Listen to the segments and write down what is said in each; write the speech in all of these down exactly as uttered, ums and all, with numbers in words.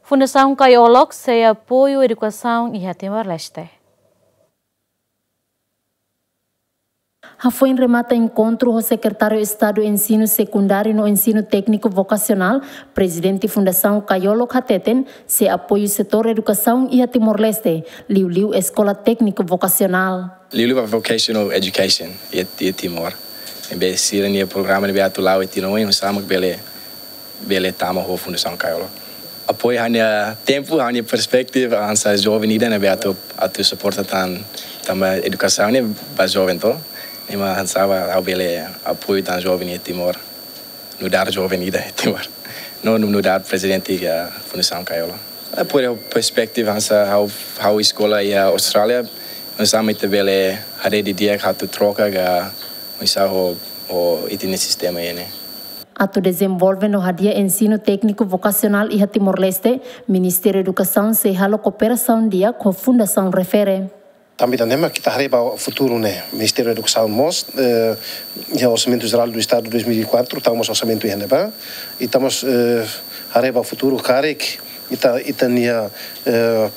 Fundasaun Kaiolok sei apoiu edukasaun iha Timor-Leste. Hafoin remata enkontru ho Sekretáriu Estadu Ensinu Sekundáriu no Ensinu Tékniku Vokasionál, Prezidente Fundasaun Kaiolok hateten sei apoiu setór edukasaun iha Timor-Leste, liuliu Eskola Tékniku Vokasionál. Liuliu ba vocational education iha, iha Timor. Ne'ebé sira-nia programa ne'ebé atu la'o iha tinan oin, oinsá mak bele, bele tama ho Fundasaun Kaiolok. Apoiu ha'u-nia tempu, ha'u-nia perspektiva, hanesan joven ida ne'ebé atu, atu suporta tan, tanba edukasaun ne'e ba joven to. Ne'e mak hanesan ba ha'u bele apoiu tan joven iha Timor. Nu'udar joven ida iha Timor. No, no, nu'udar prezidente iha Fundasaun Kaiolok. Apoiu perspektiva hanesan ha'u, ha'u eskola iha Austrália, oinsá mak ita bele haree didi'ak atu troka ka oinsá ho, ho ita-nia sistema ne'e. Atu dezenvolve no hadi'a ensinu tékniku vokasionál iha Timor-Leste, Ministériu Edukasaun sei halo kooperasaun di'ak ho fundasaun refere. Tanba ida-ne'e mak ita haree ba futuru ne'e, Ministériu Edukasaun mós, eh, iha Orsamentu Jerál do Estadu dois mil e quatro, tau mós orsamentu iha ne'ebá, i tau mós, eh, haree ba futuru karik ita, ita-nia, eh,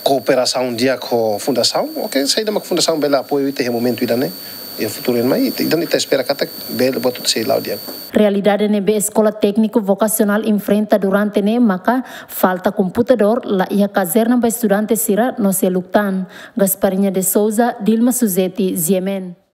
kooperasaun di'ak ho fundasaun, oke, saida mak fundasaun bele apoiu ita iha momentu ida-ne'e, iha futuru ne'e mai, ita, ita espera katak bele buat hotu sei la'o di'ak. Realidade ne'ebé Eskola Tékniku Vokasionál enfrenta durante ne'e maka falta komputadór, la iha kazerna ba estudante sira no seluk tan. Gasparinha de Souza, Dilma Suzeti, G M N.